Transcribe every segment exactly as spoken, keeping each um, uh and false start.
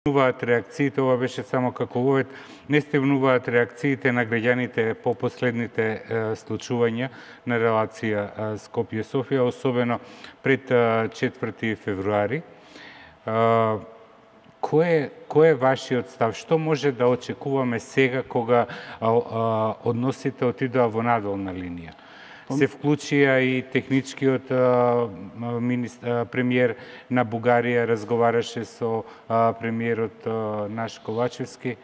стигнуваат реакциите, ова беше само како вовед, не стигнуваат реакциите на граѓаните по последните е, случувања на релација Скопје-Софија, особено пред четврти февруари. Е, кој е, кој е вашиот став? Што може да очекуваме сега кога а, а, односите отидоа во надолна линија? Се вклучија и техничкиот а, министр, премиер на Бугарија, разговараше со а, премиерот а, наш Ковачевски.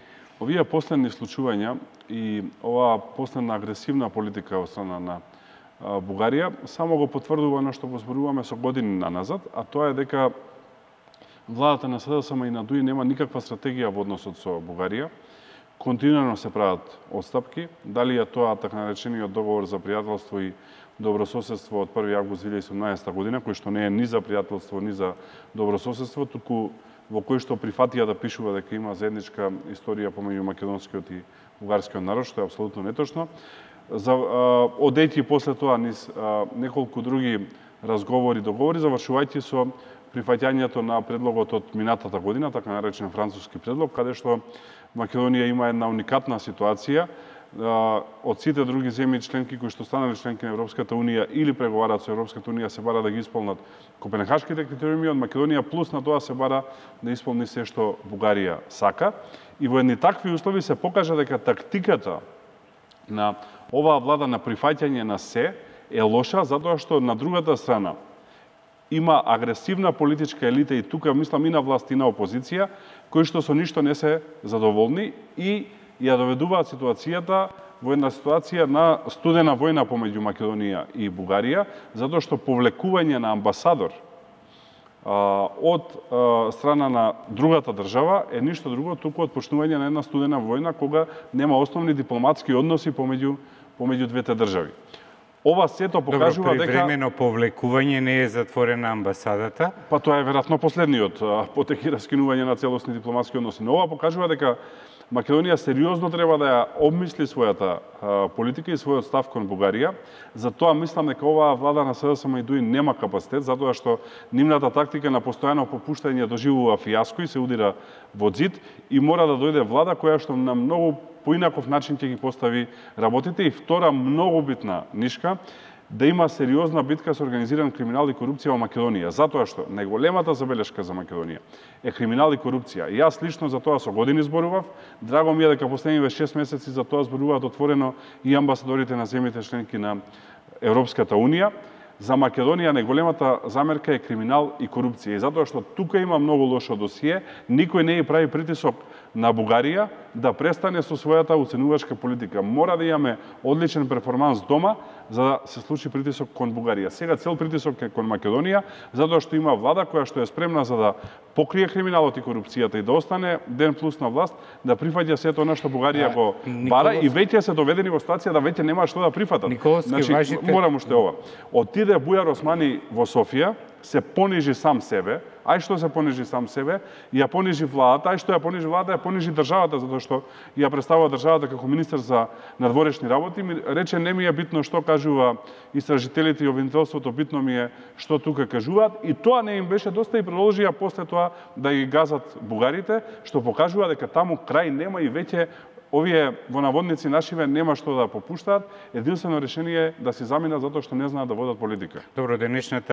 Овие последни случувања и оваа последна агресивна политика од страна на а, Бугарија само го потврдува оно што го зборуваме со години наназад, а тоа е дека владата на СДСМ и на ДУИ нема никаква стратегија во односот со Бугарија. Континуирано се прават отстапки, дали е тоа така наречениот договор за пријателство и добрососедство од први август две илјади и седумнаесета година, кој што не е ни за пријателство, ни за добрососедство, туку во кој што прифатија да пишува дека има заедничка историја помеѓу македонскиот и бугарскиот народ, што е апсолутно неточно. За, одејќи после тоа низ а, неколку други разговори, договори, завршувајќи со прифаќањето на предлогот од минатата година, така наречен француски предлог, каде што Македонија има една уникатна ситуација. Од сите други земји членки кои што станале членки на Европската Унија или преговараат со Европската Унија се бара да ги исполнат Копенхашките критериуми, од Македонија плюс на тоа се бара да исполни се што Бугарија сака. И во едни такви услови се покажа дека тактиката на оваа влада на прифаќање на се е лоша, затоа што на другата страна има агресивна политичка елита и тука мислам и на власт и на опозиција, кои што со ништо не се задоволни и ја доведуваат ситуацијата во една ситуација на студена војна помеѓу Македонија и Бугарија, затоа што повлекување на амбасадор а, од а, страна на другата држава е ништо друго, туку отпочнување на една студена војна кога нема основни дипломатски односи помеѓу помеѓу двете држави. Ова сето покажува дека... Добро, привремено повлекување не е затворена амбасадата. Па тоа е веројатно последниот потеки раскинување на целосни дипломатски односи. Но ова покажува дека Македонија сериозно треба да ја обмисли својата а, политика и својот став кон Бугарија. Затоа мислам дека оваа влада на СДСМ и ДУИ нема капацитет, затоа што нивната тактика на постојано попуштање доживува фијаско и се удира во зид и мора да дојде влада која што на многу поинаков начин ќе ги постави работите. И втора многу битна нишка, да има сериозна битка со организиран криминал и корупција во Македонија, затоа што најголемата забелешка за Македонија е криминал и корупција. И јас лично за тоа со години зборував. Драго ми е дека последниве шест месеци за тоа зборуваат отворено и амбасадорите на земјите членки на Европската Унија. За Македонија најголемата замерка е криминал и корупција. И затоа што тука има многу лошо досие, никој не ја прави притисок на Бугарија да престане со својата уценувачка политика. Мора да имаме одличен перформанс дома за да се случи притисок кон Бугарија. Сега цел притисок е кон Македонија, затоа што има влада која што е спремна за да покрие криминалот и корупцијата и да остане ден плюс на власт, да прифаќа сето она што Бугарија го бара. Николос... и веќе се доведени во ситуација да веќе нема што да прифатат. Николовски, значи, важите... морам уште ова. Отиде Бујар Османи во Софија, се понижи сам себе, ај што се понижи сам себе, ја понижи владата, ај што ја понижи владата, ја понижи државата, затоа што ја представува државата како министер за надворешни работи, ми рече не ми е битно што кажува истражителите и обвинителството, битно ми е што тука кажуваат, и тоа не им беше доста и продолжија после тоа да ги газат бугарите, што покажува дека таму крај нема и веќе овие во наводници нашиве нема што да попуштаат. Единствено решение е да си заминат затоа што не знаат да водат политика. Добро, денешната